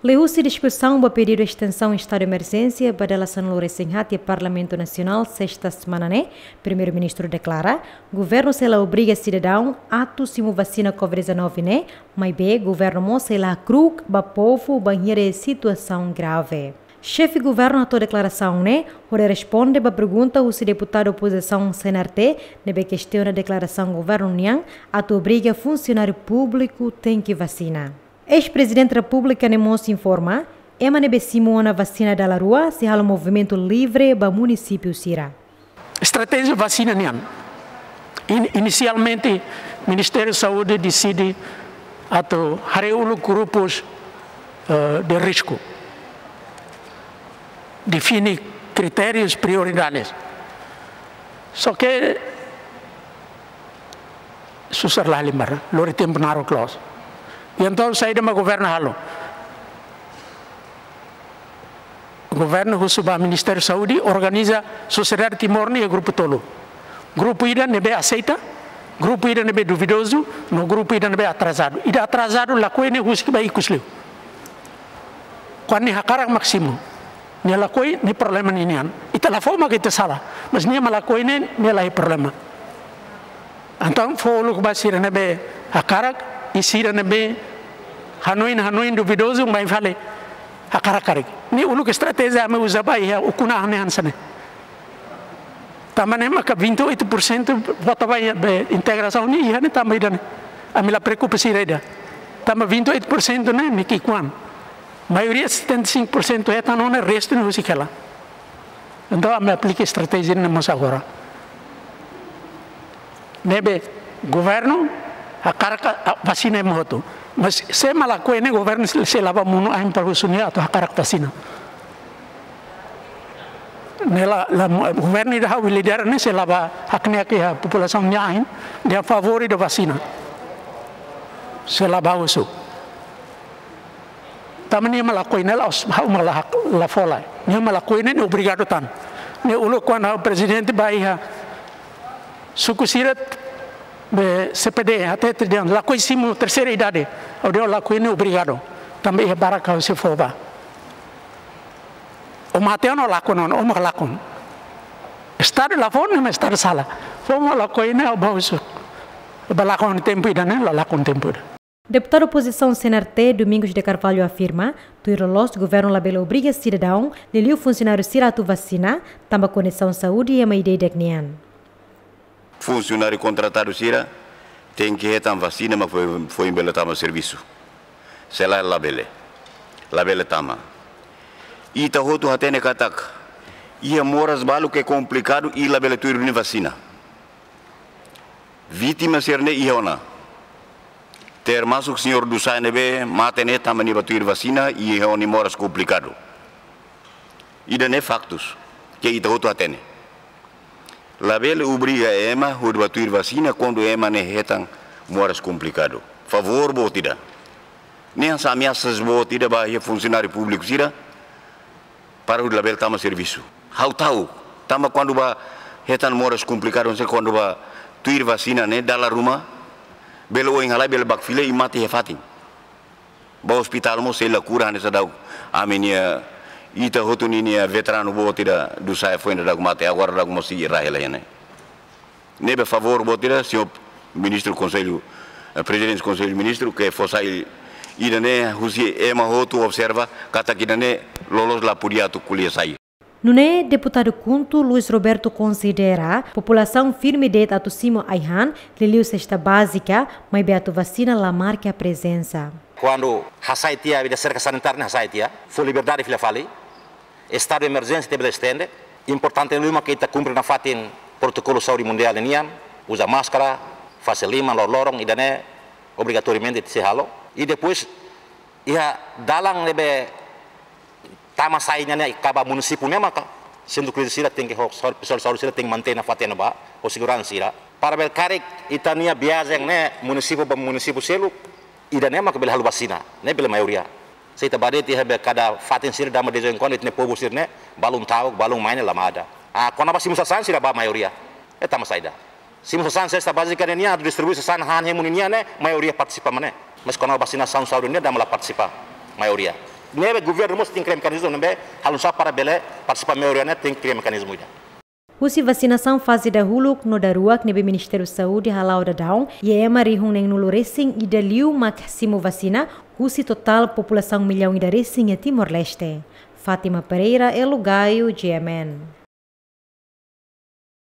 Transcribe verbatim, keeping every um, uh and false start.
Liuhusi diskusaun ba pedidu estensaun estadu emerjénsia ba dala sanulu-resin-haat iha Parlamentu Nasionál, sesta semana ne'e, Primeiru-Ministru deklara, governu sei la obriga sidadaun atu simu vasina covid dezanove ne'e, maibé governu mós sei la hakru'uk ba povu bainhira iha situasaun grave. Xefe governu hato'o deklarasaun ne'e hodi responde ba pergunta husi deputadu opozisaun C N R T ne'ebé kestiona deklarasaun governu nian atu obriga funsionáriu públiku tenke vasina. Eis-Prezidente Repúblika ne'e mós informa, ema ne'ebé simu ona vasina dala rua sei halo movimentu livre ba munisípiu sira. Estratéjia vasina nian. In-, inisialmente, Ministériu Saúde deside atu haree uluk grupus, eh, de risku. Define kritérius, prioridades. Só ke susar la halimar, lori tempu naruk loos. I entaun saida mak governu halo? Governu husu ba Ministériu Saúde organiza sosiedade Timor nian iha grupu tolu. Grupu ida ne'ebé aseita, grupu ida ne'ebé duvidozu, no grupu ida ne'ebé atrasadu. Ida atrasadu lakohi ne'e husik ba ikus liu. Kuandu nia hakarak mak simu. Nia lakohi ne'e problema ninian. Ita la fó mak ita sala. Mas nia mak lakohi ne'e, nia la iha problema. Entaun fó uluk ba sira ne'ebé hakarak, i sira ne'ebé hanoin, hanoin duvidozu, mai fali hakarak karik. Ne'e uluk estratéjia ami uza ba iha ukun-an ne'e hanesan ne'e. Tanba ne'e maka vinte e oito por cento vota ba iha be integrasaun ne'e iha ne'e tanba ida-ne'e. Ami la preokupa sira ida. Tanba vinte e oito por cento ne'e mak ki'ikoan. Maioria setenta e cinco por cento hetan ona, restu ne'e husik hela. Entaun ami aplika estratéjia ne'e mós agora. Ne'ebé governu hakarak ka, a, vasina ema hotu. Mas se ema lakohi ne'e governu sei, sei la bá monu ain para husu nia atu hakarak vasina. Ne'e la, la, governu ida ha'u lidera ne'e sei la bá hakne'ak iha populasaun nia ain, dehan favór ida vasina. Sei la bá husu. Tanba nia mak lakohi ne'e la'ós ha'u mak la hak, la fó lai. Nia mak lakohi ne'e, ne'e obrigadu tan. Ne'e uluk kuandu ha'u prezidente bá iha suku sira be C P D, até te dehan lakohi simu terseira idade. Ha'u dehan lakohi ne'e obrigadu. Tanba iha barak ha'u sei fó bá. Ó mate ona ó lakon ona, ó mak lakon. Estadu la fó ne'e mak estadu sala. Fó mak lakohi ne'e ha'u bá husu. Bá lakon tempu ida-ne'e, la lakon tempu ida. Deputadu opozisaun C N R T, Domingos de Carvalho afirma, tuir loloos governu labele obriga sidadaun, liuliu funsionáriu sira atu vasina, tanba kondisaun saúde ema ida-idak nian. Funsionáriu kontratadu sira tenke hetan vasina mak foin, foin bele tama servisu. Se lae labele. Labele tama. Ita hotu hatene katak iha moras balu ke komplikadu i labele tuir duni vasina. Vítima sira-ne'e iha ona. Termasuk señór Dusae ne'ebé mate ne'e tanba nia bá tuir vasina i iha ona nia moras komplikadu. Ida-ne'e faktus ke ita hotu hatene. Labele obriga ema hodi bá tuir vasina kuandu ema ne'e hetan moras komplikadu. Favór boot ida. Ne'e hanesan ameasa boot ida ba iha funsionáriu públiku sira para hodi labele tama servisu. Ha'u ta'uk, tanba kuandu bá hetan moras komplikadu, se kuandu bá tuir vasina ne'e dala ruma, bele oin halai, bele bakfila i mate iha fatin. Bá ospitál mós sei la kura, hanesan daudaun ami-nia, ita hotu ninia veteranu boot ida Dusae foin daudaun mate, agora daudaun mós sei iha rai hela iha ne'e. Ne'ebé favór boot ida, señór Ministru Konsellu, eh, Prezidente Konsellu Ministru, ke fó sai ida-ne'e husi ema hotu observa katak ida-ne'e loloos la podia atu ko'alia sai. Nune'e Deputadu KHUNTO Luis Roberto konsidera populasaun firme de'it atu simu ai-han, liuliu sesta bázika, maibé atu vasina la marka prezensa. Kuandu hasai tiha, vida serka sanitária ne'e hasai tiha, fó liberdade fila fali, estadu emerjénsia tenke bele estende, importante liu mak ita kumpre nafatin protokolu saúde mundiál nian, uza máskara, fase liman loroloron, ida-ne'e obrigatoriamente sei halo. I depois, iha dalan ne'ebé tama sai nian ne'e, kaba munisípiu ne'e maka sentru kríziku sira tenke ho, ho, pesoál saúde sira tenke mantein nafatin ne'ebá, ho seguransa sira. Para bele karik ita-nia viajen ne'e munisípiu ba munisípiu seluk, ida-ne'e maka bele halo vasina, ne'e bele maioria. Se ita bá de'it iha be kada fatin sira, dama de vez em quando ita-nia povu sira-ne'e balun ta'uk, balun mai ne'e la mada. Ah, kona-ba simu sasán sira bá maioria. Ne'e tanba saida? Simu sasán sesta bázika ne'e nian, atu distribui sasán han hemu ninian ne'e, maioria partisipa mak ne'e. Mas kona-ba vasinasaun saúde ne'e dama la partisipa, maioria. Ne'ebé governu mós tenke kria mekanizmu ne'ebé halo nu'usá para bele partisipa maioria ne'e tenke kria mekanizmu ida. Husi vasinasaun faze dahuluk no daruak ne'ebé Ministériu Saúde hala'o daudaun, iha ema rihun neen-nulu resin ida liu mak simu vasina husi totál populasaun millaun ida resin iha Timor-Leste. Fátima Pereira, Elo Gaio, G M N.